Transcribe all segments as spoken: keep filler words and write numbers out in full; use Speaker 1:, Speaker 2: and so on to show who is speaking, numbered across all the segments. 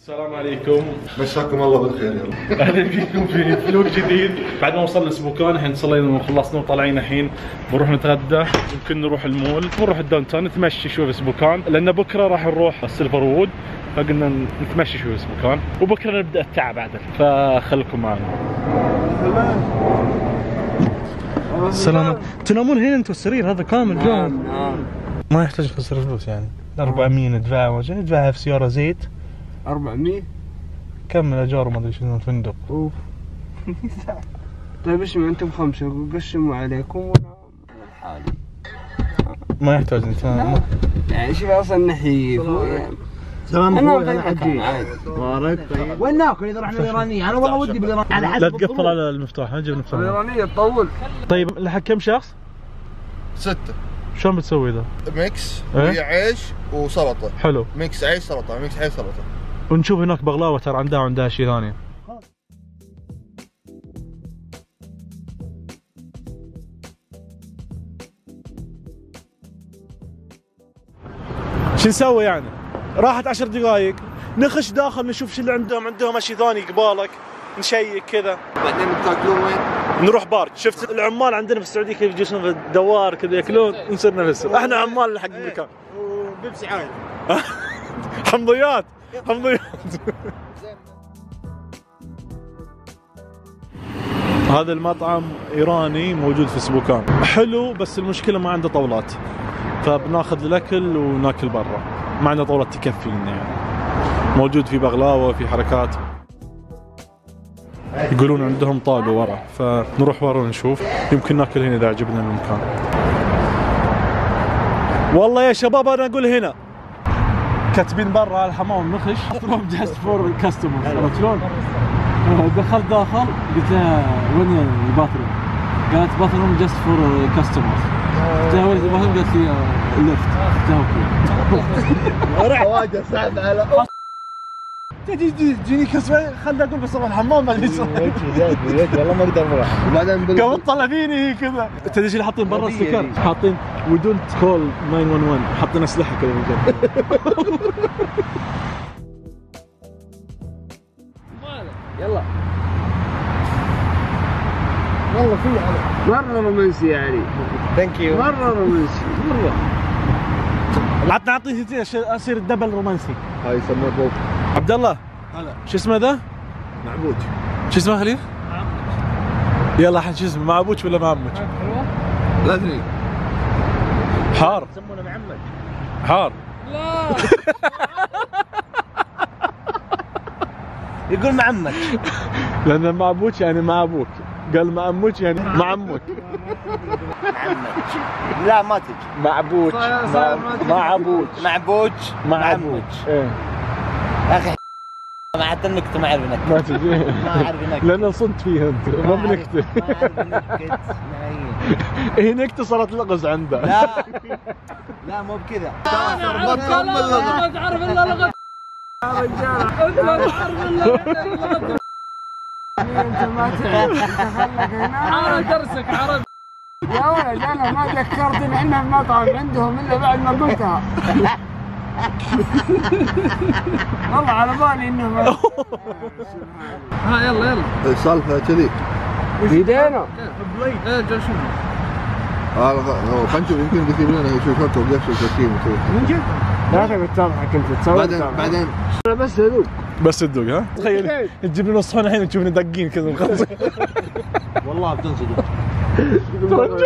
Speaker 1: السلام عليكم،
Speaker 2: مساكم الله بالخير. يلا
Speaker 1: اهلا بكم في فلوق جديد. بعد ما وصلنا سبوكان الحين صلينا وخلصنا وطالعين الحين بنروح نتغدى، يمكن نروح المول، نروح الداون تاون نتمشي شوي في سبوكان، لان بكره راح نروح السيلفر وود، فقلنا نتمشي شوي في سبوكان وبكره نبدا التعب عدل، فخلكم معنا.
Speaker 3: سلام. تنامون هنا انتم السرير هذا كامل جو؟ ما يحتاج نخسر فلوس يعني. أربعمية ندفعها وجه ندفعها في سيارة زيت.
Speaker 4: أربعمية؟
Speaker 3: كمل اجار وما ادري شنو الفندق.
Speaker 4: اوف. طيب اسمع انتم خمسة وقسموا عليكم وانا لحالي.
Speaker 3: ما يحتاج انت ما...
Speaker 4: يعني شوف اصلا نحيف.
Speaker 5: سلام
Speaker 4: اخوي انا حجي
Speaker 5: مبارك. طيب وين ناكل اذا رحنا الايرانية؟ انا والله ودي بالايرانية على حسب
Speaker 3: لا تقفل على المفتاح، نجيب نفتح.
Speaker 4: الايرانية تطول.
Speaker 3: طيب لحق كم شخص؟
Speaker 2: ستة.
Speaker 3: شلون بتسوي ذا؟
Speaker 2: ميكس
Speaker 3: إيه؟
Speaker 2: ويا عيش وسلطة.
Speaker 3: حلو.
Speaker 2: ميكس عيش سلطة، ميكس عيش سلطة.
Speaker 3: ونشوف هناك بغلاوة ترى عندها عندها شيء ثاني. شو نسوي يعني؟ راحت عشر دقائق نخش داخل نشوف شو اللي عندهم، عندهم شيء ثاني قبالك، نشيك كذا.
Speaker 2: بعدين بتاكلون وين؟
Speaker 3: نروح بارك. شفت العمال عندنا في السعودية كيف يجلسون في الدوار كذا ياكلون، نصير نفسهم احنا عمال حق المكان.
Speaker 5: وبيبسي عادي.
Speaker 3: حمضيات حمضيات. هذا المطعم ايراني موجود في سبوكان، حلو بس المشكله ما عنده طاولات، فبناخذ الاكل وناكل برا، ما عنده طاولات تكفي لنا يعني. موجود في بغلاوه في حركات، يقولون عندهم طاوله ورا، فنروح ورا ونشوف، يمكن ناكل هنا اذا عجبنا المكان. والله يا شباب انا اقول هنا كاتبين برا على الحمام نخش فروم جاست فور كاستمرز، عرفت شلون؟ دخلت داخل قلت لها وين الباثروم؟ قالت باثروم جاست فور كاستمرز. قلت لها وين الباثروم؟ قالت لي ليفت. قلت لها اوكي.
Speaker 5: واجه صعب على
Speaker 3: تجي تجيني كسوه خلنا اقول بس اروح الحمام ما ادري
Speaker 5: والله ما اقدر اروح. وبعدين
Speaker 3: قامت طلع فيني هي كذا. تدري ايش اللي حاطين برا السكر؟ حاطين وي دونت كول تسعة واحد واحد، حاطين اسلحه كذا من جنب.
Speaker 4: يلا. والله في مرة رومانسي يعني.
Speaker 5: ثانك يو.
Speaker 4: مرة رومانسي. مرة.
Speaker 3: عطنا اعطيني اصير الدبل رومانسي.
Speaker 2: هاي يسموه بوب.
Speaker 3: عبد الله
Speaker 2: هلا.
Speaker 3: شو اسمه ذا؟
Speaker 2: معبود.
Speaker 3: شو اسمه خليل؟ يلا الحين شو اسمه، معبوش ولا معمج؟
Speaker 2: لا ادري.
Speaker 3: حار.
Speaker 5: يسمونه معمج.
Speaker 3: حار.
Speaker 4: لا.
Speaker 5: يقول معمج.
Speaker 3: لان معبوش يعني مع ابوك، قال معموش يعني مع عمك.
Speaker 5: معمج. لا ما تجي.
Speaker 3: معبوش مع ابوك.
Speaker 5: معبوج.
Speaker 3: مع ابوك. ايه
Speaker 5: يا اخي ما حتى النكته ما اعرف نكته.
Speaker 3: ما تجي.
Speaker 5: ما اعرف نكته.
Speaker 3: لان صدت فيها انت ما بنكته.
Speaker 5: ما اعرف نكت.
Speaker 3: هي نكته صارت لغز عنده.
Speaker 5: لا لا مو بكذا.
Speaker 4: ما تعرف الا لغة يا رجال. انت ما تعرف الا لغة. انت ما تعرف. خلك هنا. عرف درسك عرف. يا ولد انا ما ذكرتني احنا في مطعم عندهم الا بعد ما قلتها. والله على بالي انه ها يلا يلا.
Speaker 2: السالفة كذي.
Speaker 4: بيدينا.
Speaker 2: ايه جالس شنو؟ اه خلينا نشوف يمكن كثير مننا يشوفك ويفشل تركيب وكذا.
Speaker 4: من جد؟ لا تبي تضحك انت تسوي.
Speaker 2: بعدين بعدين
Speaker 4: انا بس ادوق.
Speaker 3: بس تدوق ها؟ تخيل تجيب لنا صحون الحين وتشوفنا داقين كذا مخلصين.
Speaker 5: والله بتنصدم.
Speaker 4: تقول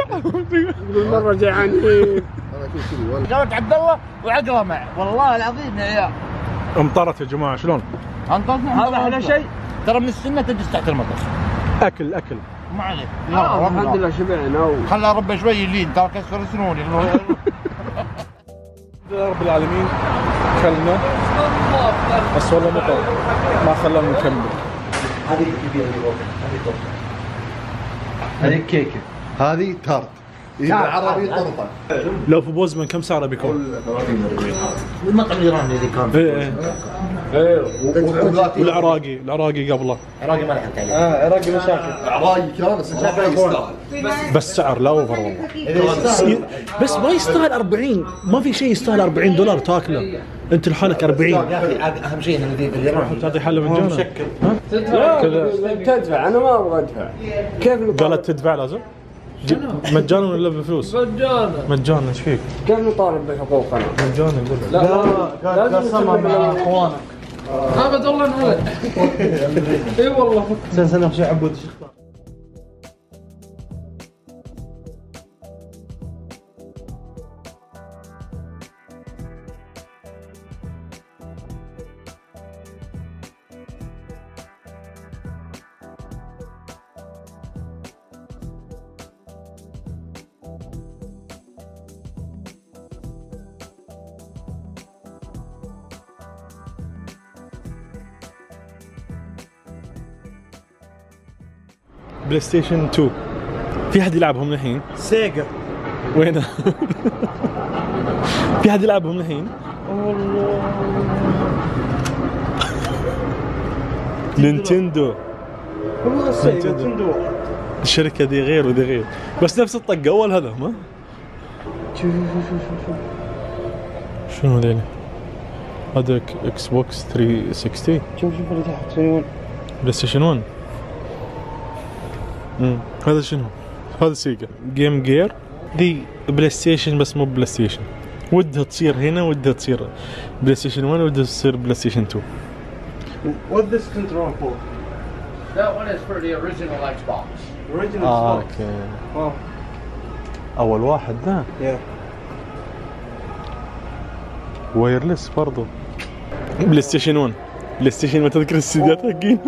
Speaker 4: مرة جيعانين.
Speaker 2: انا اشوف كذي والله.
Speaker 5: قالت عبد الله وعقله معه والله العظيم يا عيال.
Speaker 3: امطرت يا جماعه شلون؟
Speaker 5: انطرنا هذا احلى شيء ترى من السنه تجلس تحت المطر.
Speaker 3: اكل اكل
Speaker 5: ما عليك.
Speaker 4: آه الحمد لله شبعنا.
Speaker 5: خلى ربي شوي يلين ترى كسر سنوني.
Speaker 3: رب العالمين كلنا بس والله مطر ما خلانا نكمل.
Speaker 2: هذه كبيرة هذه توب. هذه كيكة. هذه تارت. بالعربي طرطق.
Speaker 1: لو في بوزمان كم سعره بيكون؟
Speaker 5: المطعم الايراني اللي كان
Speaker 1: ايه ايه والعراقي العراقي قبله
Speaker 5: عراقي ما لحقت عليه.
Speaker 3: اه عراقي مشاكل.
Speaker 2: عراقي كان بس صراحه يستاهل.
Speaker 1: بس سعر لا اوفر والله. بس ما يستاهل أربعين، ما في شيء يستاهل أربعين دولار تاكله انت لحالك أربعين.
Speaker 5: يا اخي اهم شيء انه ذي بالايراني
Speaker 1: تعطي حله مجانا
Speaker 4: تدفع تدفع انا ما ابغى ادفع. كيف نطالب؟
Speaker 1: قالت تدفع لازم مجانا ولا بفلوس؟
Speaker 4: مجانا.
Speaker 1: مجانا ايش فيك؟
Speaker 4: كيف نطالب بحقوقنا؟
Speaker 1: مجانا يقول لك.
Speaker 4: لا لازم نسمع مع اخوانك. ابد والله انولد. اي والله.
Speaker 3: سنة سنة شو عبود ايش اختار؟
Speaker 1: بلاي ستيشن اثنين في حد يلعبهم الحين؟
Speaker 3: سيجا.
Speaker 1: وينه؟ في حد يلعبهم الحين؟ نينتندو.
Speaker 3: والله سيجا نينتندو.
Speaker 1: الشركة دي غير ودي غير بس نفس الطقة أول هذا ما؟
Speaker 3: شوف شوف شوف شوف
Speaker 1: شنو ذيلي؟ هذا اكس بوكس ثلاثمية وستين.
Speaker 3: شوف شوف اللي تحت شنو؟
Speaker 1: بلاي ستيشن واحد. امم هذا شنو؟ هذا سيجا جيم جير. دي بلاي ستيشن بس مو بلاي ستيشن، ودها تصير هنا ودها تصير بلاي ستيشن واحد ودها تصير بلاي ستيشن اثنين.
Speaker 3: What this control for?
Speaker 4: That one is for the original Xbox.
Speaker 3: Original
Speaker 1: اه
Speaker 3: Xbox.
Speaker 1: اوكي.
Speaker 3: Oh.
Speaker 1: اول واحد ذا
Speaker 3: Yeah.
Speaker 1: وايرلس برضو. بلاي ستيشن واحد بلاي ستيشن ما تذكر السيدات حقين.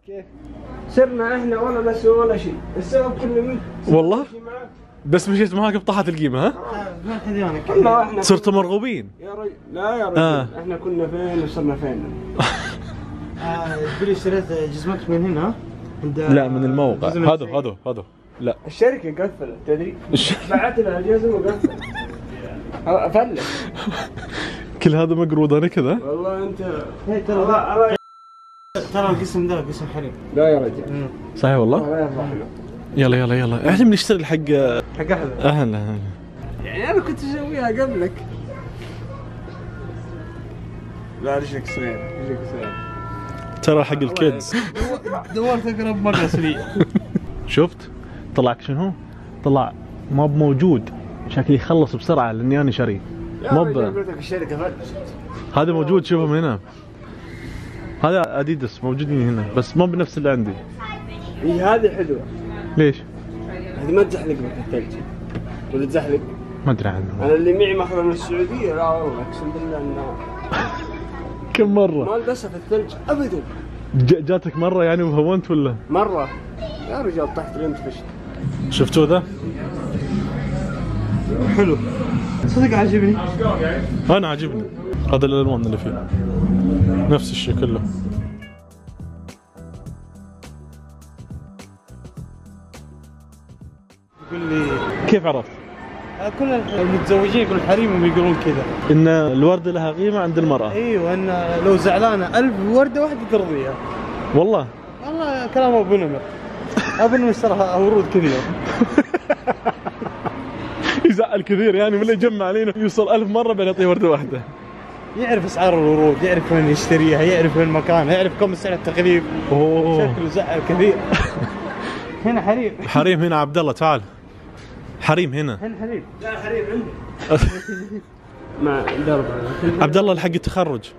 Speaker 4: كيف؟ صرنا احنا ولا نسوي ولا شيء، السبب كله منك.
Speaker 1: والله بس مشيت معاك بطاحت القيمة ها؟
Speaker 3: ما حديانك.
Speaker 4: والله احنا
Speaker 1: صرتوا مرغوبين.
Speaker 4: يا رجل لا يا رجل
Speaker 1: آه.
Speaker 4: احنا كنا فين وصرنا فين؟
Speaker 3: تقولي اشتريت جزمتك من هنا؟ عند
Speaker 1: لا من الموقع.
Speaker 3: جزم
Speaker 1: هذا
Speaker 3: الشيء.
Speaker 1: هذا هذا لا
Speaker 4: الشركة قفلت تدري؟
Speaker 1: الش-
Speaker 4: بعت لها الجزم وقفلت. افلت
Speaker 1: كل هذا مقروض انا كذا.
Speaker 4: والله انت
Speaker 3: هي ترى
Speaker 4: والله
Speaker 3: ترى القسم ذا قسم حريم.
Speaker 4: لا يا رجل
Speaker 1: صحيح والله.
Speaker 4: الله يرضى عنك.
Speaker 1: يلا يلا يلا احنا بنشتغل حق
Speaker 3: حق احد.
Speaker 1: اهلا.
Speaker 4: يعني انا كنت اسويها قبلك. لا رجلك صغير رجلك صغير.
Speaker 1: ترى حق الكيدز.
Speaker 3: دورت اقرب مرة سريع.
Speaker 1: شفت؟ طلعك شنو؟ طلع ما بموجود، شكلي يخلص بسرعه لاني انا شاري.
Speaker 4: يا
Speaker 1: ما
Speaker 4: رجل
Speaker 1: ب...
Speaker 4: قلت لك الشركة فلست.
Speaker 1: هذا موجود شوفه من هنا. هذا اديداس موجودين هنا بس ما بنفس اللي عندي.
Speaker 4: اي هذه حلوة.
Speaker 1: ليش؟
Speaker 4: هذه ما تزحلق لك الثلج. ولا تزحلق؟
Speaker 1: ما ادري عنه.
Speaker 4: انا اللي معي ماخذها من السعودية لا والله اقسم بالله انه
Speaker 1: كم مره؟
Speaker 4: ما لبسها في الثلج ابدا.
Speaker 1: ج- جاتك مره يعني وهونت ولا؟
Speaker 4: مرة يا رجال طحت لين فشت.
Speaker 1: شفتوا ذا؟
Speaker 3: حلو. صدق عجبني.
Speaker 1: انا عاجبني هذا الالوان اللي فيه نفس الشيء كله.
Speaker 3: يقول لي
Speaker 1: كيف عرفت؟
Speaker 3: كل المتزوجين يقولون حريمهم يقولون كذا.
Speaker 1: ان الورده لها قيمه عند المراه.
Speaker 3: ايوه ان لو زعلانه ألف ورده واحده ترضيها.
Speaker 1: والله
Speaker 3: والله كلام ابو نمر. ابو نمر اشترى ورود كثير.
Speaker 1: يزعل كثير يعني من اللي يجمع علينا يوصل ألف مره بين يعطيه ورده واحده.
Speaker 3: يعرف اسعار الورود، يعرف وين يشتريها، يعرف وين مكانها، يعرف كم سعر التغليف.
Speaker 1: اوه
Speaker 3: شكله زعل كثير. هنا حريم.
Speaker 1: حريم هنا عبد الله تعال. حريم هنا.
Speaker 3: هنا حريم.
Speaker 4: لا حريم عندي. مع درب
Speaker 1: عبد الله الحق التخرج.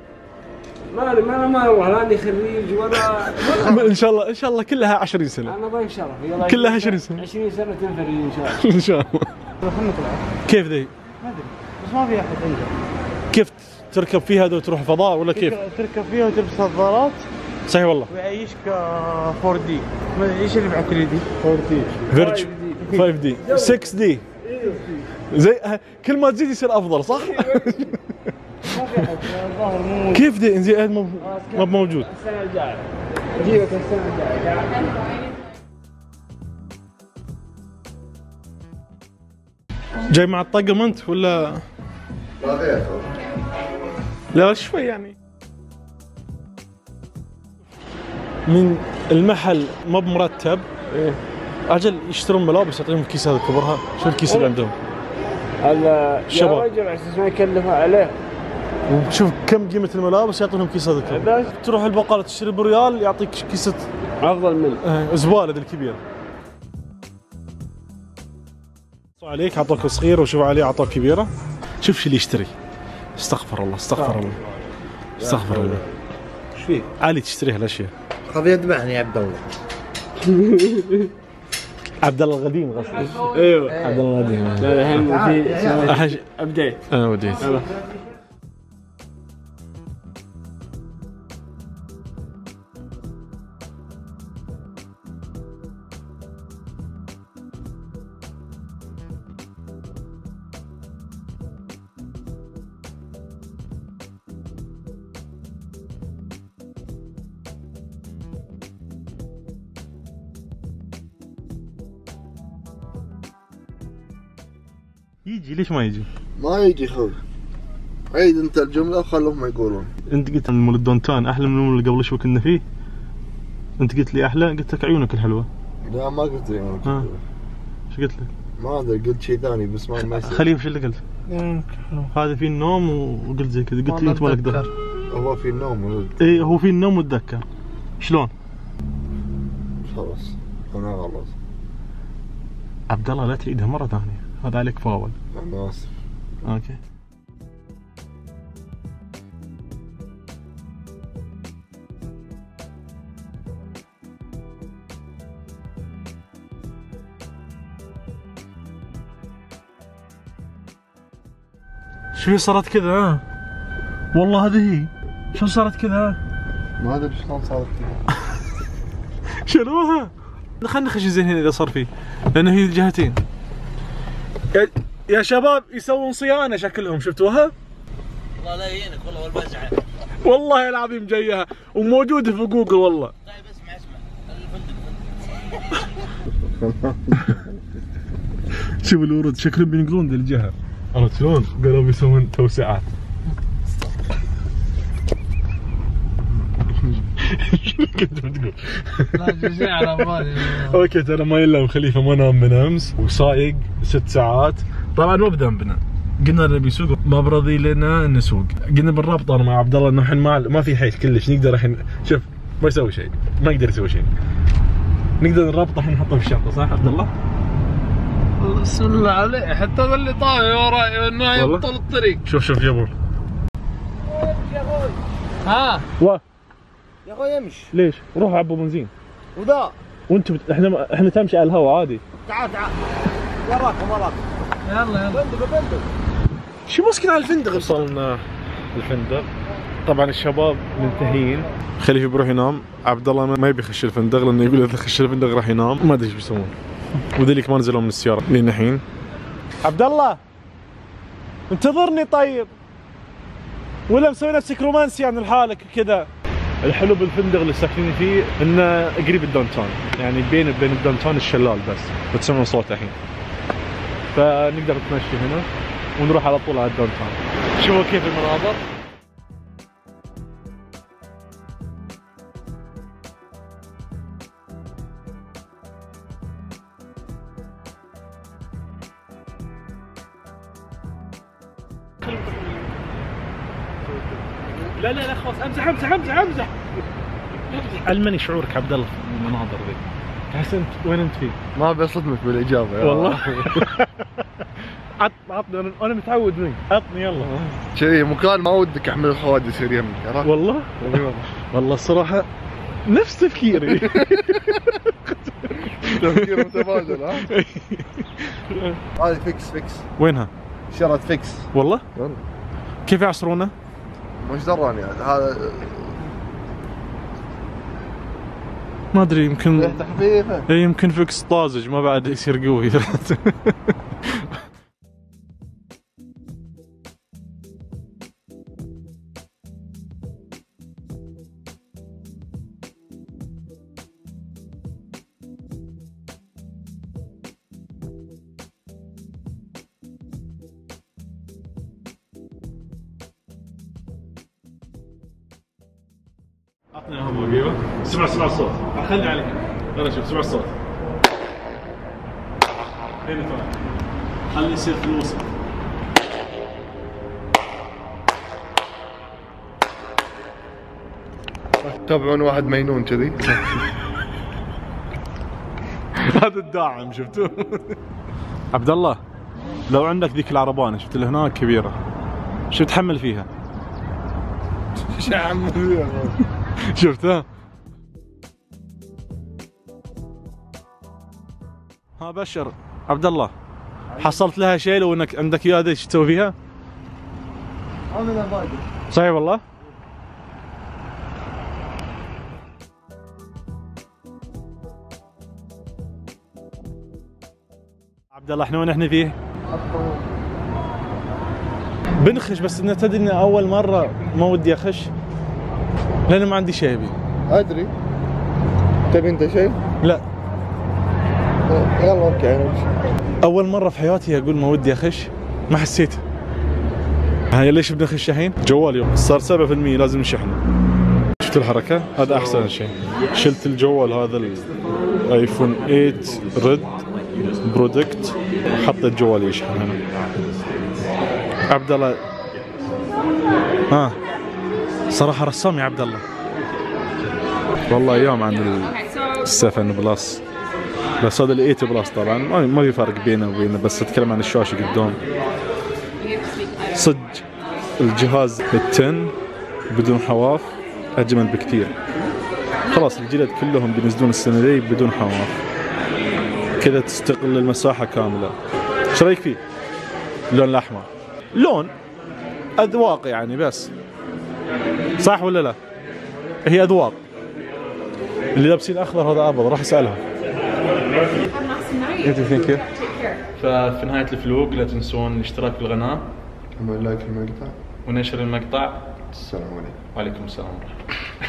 Speaker 4: ما ما انا ما والله لاني خريج ولا
Speaker 1: ان شاء الله ان شاء الله كلها عشرين سنه.
Speaker 4: انا ضيف شرف يلا
Speaker 1: كلها عشرين سنة.
Speaker 4: عشرين سنة تنفرج ان شاء الله.
Speaker 1: ان شاء الله.
Speaker 3: خلنا نطلع.
Speaker 1: كيف ذي؟
Speaker 3: ما ادري بس ما في احد عنده.
Speaker 1: كيف تركب فيها هذا وتروح فضاء ولا كيف؟
Speaker 3: تركب فيها وتلبس نظارات
Speaker 1: صحيح والله.
Speaker 3: ويعيشك فور دي. ما ادري ايش اللي مع ثري دي؟ فور دي.
Speaker 1: فيرج خمسة دي ستة دي زي كل ما تزيد يصير افضل صح؟ كيف دي زياد مو مو موجود؟
Speaker 4: السنة الجاية نجيبك السنة الجاية.
Speaker 1: جاي مع الطقم انت ولا؟
Speaker 2: لا غير.
Speaker 1: لا شوي يعني. من المحل ما بمرتب.
Speaker 4: ايه
Speaker 1: اجل يشترون ملابس يعطيهم الكيس هذا كبرها، شو الكيس اللي عندهم؟
Speaker 4: هذا
Speaker 1: شباب.
Speaker 4: يا رجل على اساس ما يكلفوا عليه.
Speaker 1: وشوف كم قيمة الملابس يعطونهم كيس هذا كبر. تروح البقالة تشتري بريال يعطيك كيسة
Speaker 4: افضل منه.
Speaker 1: آه، زبالة ذي الكبير. عليك اعطوك صغيرة وشوف عليه اعطوك كبيرة. شوف شو اللي يشتري. استغفر الله استغفر الله استغفر الله.
Speaker 5: ايش فيه؟
Speaker 1: علي تشتري هالاشياء.
Speaker 5: خذ يذبحني يا عبد الله.
Speaker 1: عبد الله القديم قصدي.
Speaker 4: ايوه
Speaker 1: عبد الله القديم.
Speaker 4: لا الحين في
Speaker 1: أحج...
Speaker 4: ابديت.
Speaker 1: انا وديت. يجي ليش ما يجي؟
Speaker 2: ما يجي خوي. عيد انت الجملة وخلهم يقولون.
Speaker 1: انت قلت المول الدونتان احلى من المول اللي قبل شوي كنا فيه. انت قلت لي احلى، قلت لك عيونك الحلوه.
Speaker 2: لا ما قلت لي انا.
Speaker 1: ها ايش قلت لك؟
Speaker 2: ما ادري قلت شيء ثاني بس ما ما يصير.
Speaker 1: خليفه شو اللي قلت؟ هذا فيه النوم وقلت زي كذا، قلت لي انت مالك دخل.
Speaker 2: هو في النوم ولد.
Speaker 1: اي هو فيه النوم وتذكر. شلون؟
Speaker 2: خلاص انا غلط.
Speaker 1: عبد الله لا تعيدها مره ثانيه، هذا عليك فاول.
Speaker 2: انا اسف.
Speaker 1: اوكي. شو صارت كذا ها؟ والله هذه هي. شو صارت كذا؟
Speaker 2: ما ادري شلون صارت كذا.
Speaker 1: شنوها؟ خلينا نخش زين هنا اذا صار فيه، لانه هي الجهتين. يا, يا شباب يسوون صيانه شكلهم، شفتوها؟
Speaker 5: الله لا يهينك والله والبزعه.
Speaker 1: والله العظيم جايها وموجوده في جوجل والله.
Speaker 5: طيب اسمع اسمع الفندق.
Speaker 1: شوف الورود شكلهم بينقلون ذي الجهه. عرفت شلون؟ قالوا بيسوون توسعات. شنو كنت بتقول؟
Speaker 4: لا شيء على بالي.
Speaker 1: اوكي ترى ما يلا خليفه ما نام من امس وسايق ست ساعات. طبعا ما بذنبنا، قلنا نبي نسوق ما برضي لنا نسوق. قلنا بنرابط انا مع عبد الله انه الحين ما ما في حيل كلش نقدر الحين. شوف ما يسوي شيء، ما يقدر يسوي شيء. نقدر نرابطه الحين نحطه في الشنطه صح عبد الله؟
Speaker 4: بسم الله عليه، حتى هذا اللي طاوي وراي انه يبطل الطريق.
Speaker 1: شوف شوف جابور.
Speaker 4: ها
Speaker 1: و
Speaker 5: يا اخوي امشي.
Speaker 1: ليش؟ روح عبوا بنزين.
Speaker 5: وذا
Speaker 1: وانت بت... احنا احنا تمشي على الهواء عادي.
Speaker 5: تعال تعال. وراكم وراكم.
Speaker 4: يلا يلا.
Speaker 5: فندق فندق.
Speaker 1: شو مسكين على الفندق؟ وصلنا الفندق. طبعا الشباب منتهين. خليفه بيروح ينام، عبد الله ما يبي يخش الفندق لانه يقول اذا خش الفندق راح ينام، ما ادري ايش بيسوون. وذلك ما نزلوا من السياره لين الحين. عبد الله انتظرني طيب، ولا مسوي نفسك رومانسي عن لحالك كذا. الحلو بالفندق اللي ساكنين فيه انه قريب الدونتون، يعني بين بين الدونتون الشلال بس، بتسمعون صوته الحين. فنقدر نتمشي هنا ونروح على طول على الدونتون. شوفوا كيف المناظر. لا لا لا خلاص امزح امزح امزح امزح. علمني شعورك عبد الله في المناظر ذي. تحس انت وين انت فيه؟
Speaker 2: ما بصدمك بالاجابه
Speaker 1: والله. عط عطني انا انا متعود منك، عطني يلا.
Speaker 2: شيء مكان ما ودك احمل الخواد يصير يمك عرفت؟
Speaker 1: والله والله الصراحه نفس تفكيري.
Speaker 2: تفكير متبادل ها؟ هذه فيكس فيكس.
Speaker 1: وينها؟
Speaker 2: شرط فيكس.
Speaker 1: والله؟
Speaker 2: والله
Speaker 1: كيف يعصرونه؟
Speaker 2: مش دراني هذا.
Speaker 1: ما ادري يمكن
Speaker 2: ريحته خفيفه.
Speaker 1: اي يمكن فيكس طازج ما بعد يصير قوي. اعطني اياهم ايوه. سمع سمع الصوت. خلني عليك. انا شوف سمع الصوت. هنا طالع. خلي يصير في الوسط.
Speaker 2: تابعون واحد مجنون كذي.
Speaker 1: هذا الداعم شفتوه. عبد الله لو عندك ذيك العربانه شفت اللي هناك كبيره شو تحمل فيها؟
Speaker 2: شو عم
Speaker 1: شفتها؟ ها بشر عبد الله حصلت لها شيء لو انك عندك اياه ايش تسوي فيها؟ صحيح والله؟ عبد الله احنا وين احنا فيه؟ بنخش بس انه تدري اني اول مره ما ودي اخش لان ما عندي شيء ابي.
Speaker 2: ادري. تبي انت شيء؟
Speaker 1: لا.
Speaker 2: يلا اوكي نمشي.
Speaker 1: اول مره في حياتي اقول ما ودي اخش ما حسيت. هاي ليش بنخش الحين؟ جوال صار سبعة بالمئة لازم نشحنه. شفت الحركه؟ هذا احسن شيء. شلت الجوال هذا الايفون ثمانية ريد برودكت حطيت جوالي يشحن هنا. عبد الله ها صراحه رسام يا عبد الله والله ايام عن السفن بلس بس هذا ال ثمانية بلس طبعا ما في فرق بينه وبينه بس اتكلم عن الشاشه قدام صدق الجهاز العشرة بدون حواف اجمل بكثير. خلاص الجلد كلهم بينزلون السنه دي بدون حواف كذا تستقل المساحه كامله. ايش رايك فيه؟ اللون الاحمر لون اذواق يعني بس صح ولا لا؟ هي اذواق. اللي لابسين اخضر هذا ابيض راح اسالهم. ففي نهايه الفلوق لا تنسون الاشتراك في القناه
Speaker 2: لايك المقطع
Speaker 1: ونشر المقطع.
Speaker 2: السلام عليكم.
Speaker 1: وعليكم السلام ورحمه الله.